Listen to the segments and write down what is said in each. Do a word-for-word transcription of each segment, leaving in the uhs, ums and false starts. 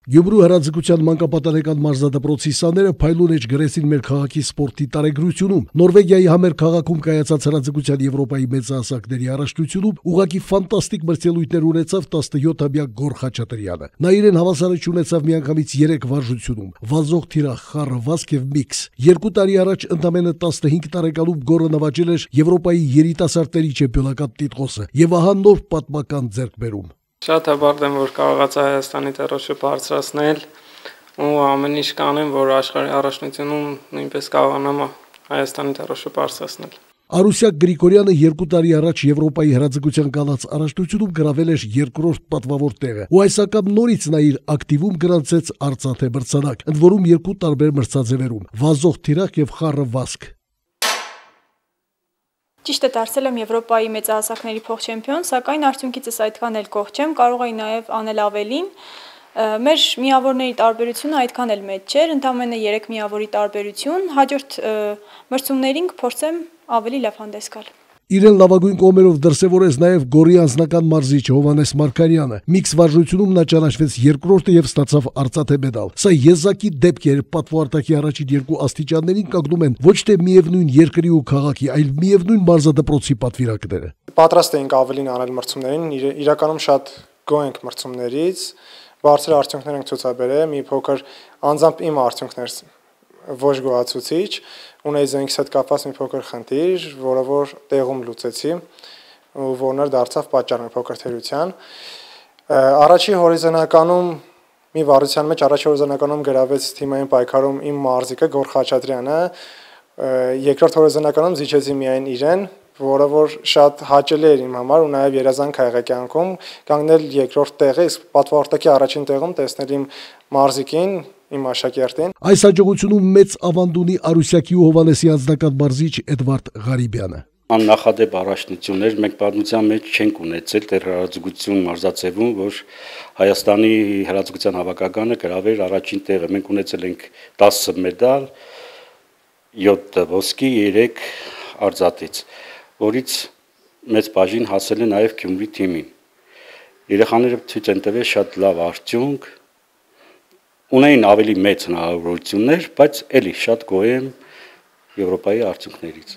Գյումրու հրաձգության մանկապատանեկան մարզադպրոցի սաները փայլուն էջ գրեցին մեր քաղաքի սպորտի տարեգրությունում։ Նորվեգիայի համեր քաղաքում կայացած հրաձգության Եվրոպայի մեծահասակների առաջնությունում ուղղակի ֆանտաստիկ մրցելույթներ ունեցավ տասնյոթամյա Գոր Խաչատրյանը։ Նա իրեն հավասարաչ ունեցավ միանգամից երեք վարժությունում՝ վազող թիրախ, խառը վազք եւ միքս։ Երկու տարի առաջ ընդամենը տասնհինգ տարեկանում Գորը նվաճել էր Եվրոպայի երիտասարդների չեմպիոնական տիտղոսը եւ ահա նոր պատմական ձեռքբերում։ Շատ հպարտ եմ, որ կարողացա Հայաստանի թռչը բարձրացնել ու ամեն ինչ կանեմ, որ աշխարհի առաջնությունում նույնպես կարողանամ Հայաստանի թռչը բարձրացնել։ Արուսյակ Գրիգորյանը երկու տարի առաջ Եվրոպայի հրաձգության գալած առաջնությունում գրավել էր երկրորդ պատվավոր տեղը, ու այս անգամ նորից նա իր ակտիվում գրանցեց արծաթե մրցանակ, ընդ որում երկու տարբեր մրցաձևերում՝ վազող թիրախ եւ խառը վազք։ Ճիշտ է, դարձել եմ Եվրոպայի մեծահասակների փոխչեմպիոն, սակայն արդյունքիցս այդքան էլ գոհ չեմ, կարող էի նաև անել ավելին։ Մեր միավորների տարբերությունը այդքան էլ մեծ չէր, ընդամենը երեք միավորի տարբերություն, հաջորդ մրցումներին կփորձեմ ավելի լավ հանդես գալ։ Իրեն լավագույն կողմերով դրսևորեց նաև Գորի անձնական մարզիչ Հովհաննես Մարգարյանը։ Միքս վարժությունում նա ճանաչվեց երկրորդը եւ ստացավ արծաթե մեդալ։ Սա եզակի դեպք էր, պատվո-արտակի առաջին երկու աստիճաններին կանգնում են ոչ թե միևնույն երկրի ու քաղաքի, այլ միևնույն մարզադպրոցի պատվիրակները։ Պատրաստ էինք ավելին անել մրցումներին, իրականում շատ գոհ ենք մրցումներից, բարձր արդյունքներ ենք ցուցաբերել, մի փոքր անձամբ իմ արդյունքներ ոչ գոհացուցիչ, ունեի զենքիս հետ կապված մի փոքր խնդիր, որը որ տեղում լուծեցի, ու որն էլ դարձավ պատճառ մի փոքր թերության։ Առաջի հորիզոնականում մի վարության մեջ առաջի հորիզոնականում գրավեց թիմային պայքարում իմ մարզիկը Գոր Խաչատրյանը, երկրորդ հորիզոնականում զիջեցի միայն իրեն, որը որ շատ հաճելի էր իմ համար ու նաև երազանք ա եղել կյանքում կանգնել երկրորդ տեղը, իսկ պատվո-արտակի առաջին տեղում տեսնել իմ մարզիկին, իմ աշակերտին։ Այս հաջողությունում մեծ ավանդ ունի Արուսյակի ու Հովհաննեսի անձնական մարզիչ Էդվարդ Ղարիբյանը։ Աննախադեպ առաջնություններ մենք պատմության մեջ չենք ունեցել դեռ հրաձգություն մարզաձևում, որ Հայաստանի հրաձգության հավաքականը գրավեր առաջին տեղը։ Մենք ունեցել ենք տասը մեդալ, յոթ ոսկի, երեք արծաթից, որից մեծ բաժին հասել է նաև Գյումրի թիմին։ Երեխաները ցույց են տվել շատ լավ արդյունք, ունեին ավելի մեծ հնարավորություններ, բայց էլի շատ գոհ եմ Եվրոպայի արդյունքներից։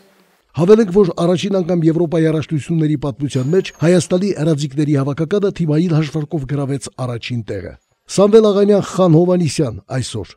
Հավելենք, որ առաջին անգամ Եվրոպայի առաջնությունների պատմության մեջ Հայաստանի հրաձիգների հավաքականը թիմային հաշվարկով գրավեց առաջին տեղը։ Սամվել Աղանյան, Խան Հովհաննիսյան, այսօր։